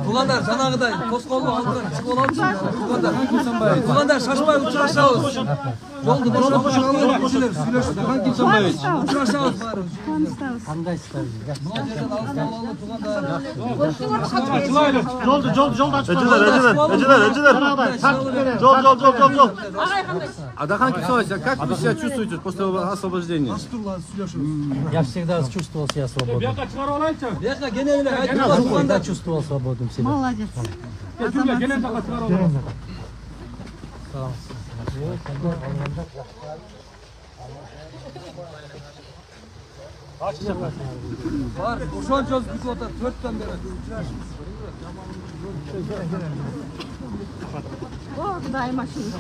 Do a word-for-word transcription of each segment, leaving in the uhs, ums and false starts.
Тугандар жанагыдай тоскоолдук алдынан чыгып алабыз. Тугандар, тугандар шашпай учурашабыз. Жолду бошотуп сүйлөшүп сүйлөшүп учурашабыз баары. Кандайсыздар? Жолду жолду жолду ачып. Эжелер, эжелер, эжелер, эжелер. Жол, жол, жол, жол, жол. Адахан Кисович, как вы себя чувствуете после освобождения? Я всегда чувствовал себя свободным. Бияка кене эле айтып Всегда чувствовал свободным себя. Молодец. бар, ошончо бүтүп атат, төрттөн бери. О, дай машина.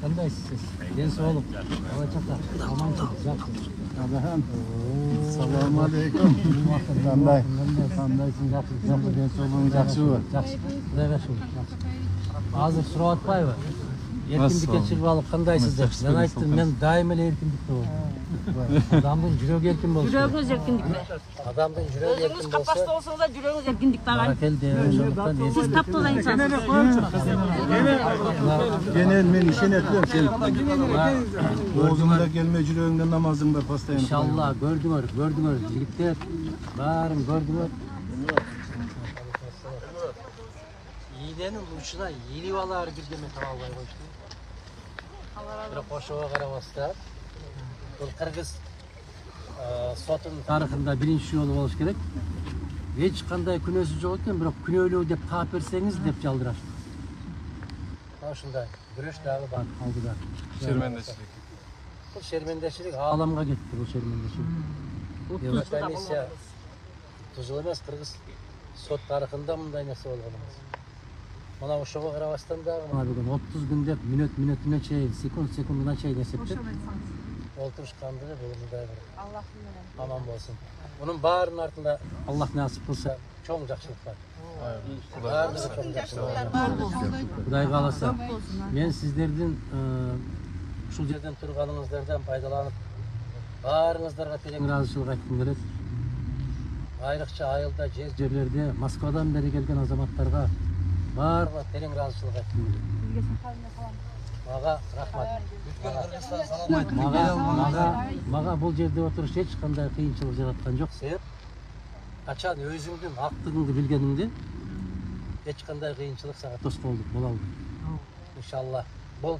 Кандайсыз? Ден соолук. Алачакта. Адахан. Салам алейкум. Кандай? Кандайсың? Жакшы, жакшы, ден соолугуң жакшыбы? Жакшы. Кудайга шүгүр. Азыр сурап атпайбы? Эркиндикке чыгып алып кандайсыз деп. Мен айттым, мен дайым эле эркиндикте болдум. Адамдын жүрөгү эркин болсун. Жүрөгүңүз эркиндикте. Адамдын жүрөгү эркин Өзүңүз болсо. капаста болсоңуз да жүрөгүңүз эркиндикте агай. Баракелде, ошондуктан Сиз таптала инсансыз. Кенен мен ишенет элем сен. Оозуңда келмей жүрөгүңдө намазың бар постоянно. Иншалла көрдүңөр, көрдүңөр жигиттер. Баарын көрдүңөр. Ийненин учуна ирип алаар бирдеме таба албай коюшту. Бирок ошого карабастан бул кыргыз сотунун тарыхында биринчи жолу болуш керек. Эч кандай күнөөсү жок экен, бирок күнөөлүү деп таап берсеңиз деп жалдырашты. Ушундай күрөш дагы бар алдыда. Шермендечилик. Бул шермендечилик ааламга кетти, бул шермендечилик. Комиссия тузул эмес, кыргыз сот тарыхында мындай нерсе болгон эмес. Мына ошого карабастан дагы мына бүгүн отуз күн деп мүнөт мүнөтүнө чейин, секунд секундуна чейин эсептеп олтурушкандыгы бул мындай бир Аллахтын менен аман болсун. Мунун баарынын артында Аллах насип кылса чоң жакшылык бар. Баардыгы чоң жакшылык бар. Кудай кааласа, мен сиздердин ушул жерден турганыңыздардан пайдаланып баарыңыздарга терең ыраазычылык айткым келет. Айрыкча айылда, жер жерлерде Москвадан бери келген азаматтарга баарына терең ыраазычылык айткым келет. Мага рахмат. Мага мага мага бул жерде отуруш эч кандай кыйынчылык жараткан жок. Себеп качан өзүңдүн актыгыңды билгениңде эч кандай кыйынчылык сага тоскоолдук боло албайт. Иншалла. Бул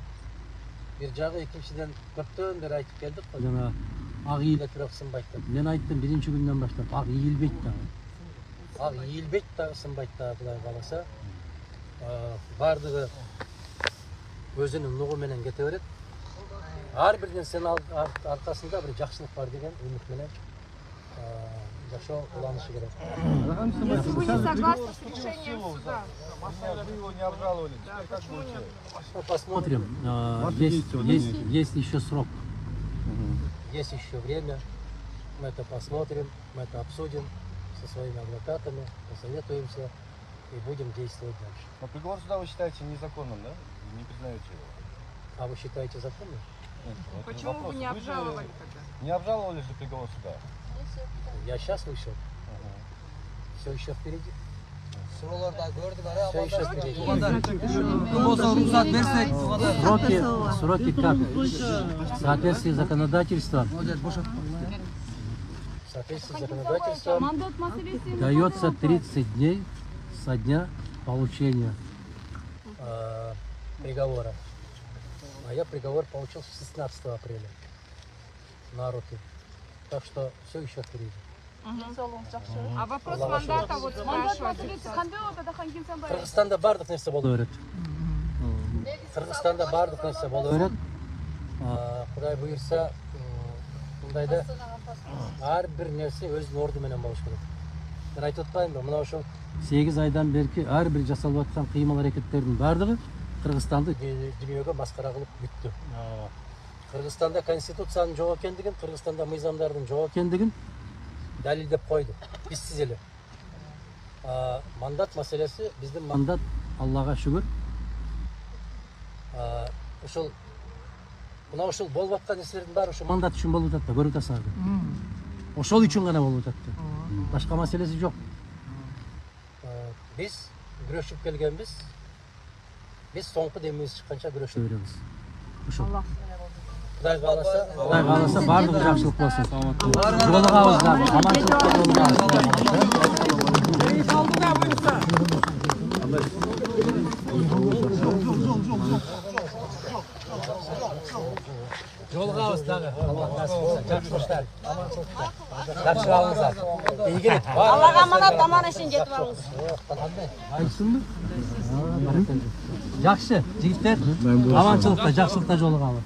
бир жагы, экинчиден көптөн бери айтып келдик го, жана ак ийиле бирок сынбайт деп. Мен айттым биринчи күндөн баштап ак ийилбейт дагы. Ак ийилбейт дагы, сынбайт дагы, Кудай кааласа. Бардыгы өзүнүн нугу менен кете берет. Ар бир нерсенин аркасында бир жакшылык бар деген үмүт менен жашоо уланышы керек. Если вы не согласны с решением суда, Вы его не обжаловали. Как будет? Посмотрим. Есть, есть, есть еще срок. Есть еще время. Мы это посмотрим, мы это обсудим со своими адвокатами, посоветуемся и будем действовать дальше. Но приговор суда вы считаете незаконным, да? Не признаете его? А вы считаете законным? Нет, вот почему вопрос. вы не обжаловали же тогда? Не обжаловали же приговор суда? Я сейчас вышел. Ага. Все еще впереди. Ага. Sıralar da gördük ara. Şey işe gireyim. Kım olsa ruhsat versek. Сроки, сроки как? В соответствии с законодательством в соответствии с законодательством Мандат маселеси. дается тридцать дней со дня получения э, приговора. А я приговор получил шестнадцатого апреля на руки. Так что все еще впереди. А вопрос мандата вот спрашивают. Кыргызстанда бардык нерсе боло берет. Кыргызстанда бардык нерсе боло берет. Кудай буйрса, мындайда ар бир нерсе өзүнүн орду менен болуш керек. Мен айтып атпаймынбы, мына ошол сегиз айдан берки ар бир жасалып аткан кыймыл аракеттердин бардыгы Кыргызстанды дүйнөгө маскара кылып бүттү. Кыргызстанда конституциянын жок экендигин, Кыргызстанда мыйзамдардын жок экендигин далилдеп койду. Бизсиз эле. Мандат маселеси биздин мандат, Аллага шүгүр. Ошол мына ошол болуп аткан нерселердин баары ошо мандат үчүн болуп атат да, көрүп атасыңар. Ошол үчүн гана болуп атат да. Башка маселеси жок. Биз күрөшүп келгенбиз. Биз соңку демибиз чыкканча күрөшүп беребиз. Ошол. Кудай кааласа, Кудай кааласа бардыгы жакшылык болсун. Жолугабыз дагы, аманчылыкта жолугабыз дагы. Алла насип кылсын. Жакшылыктар, аманчылыкта. Жакшы калыңыздар. Ийгилик. Аллага аманат, аман эшин жетип алыңыз. Айтсынбы? Жакшы, жигиттер. Аманчылыкта, жакшылыкта жолугалы.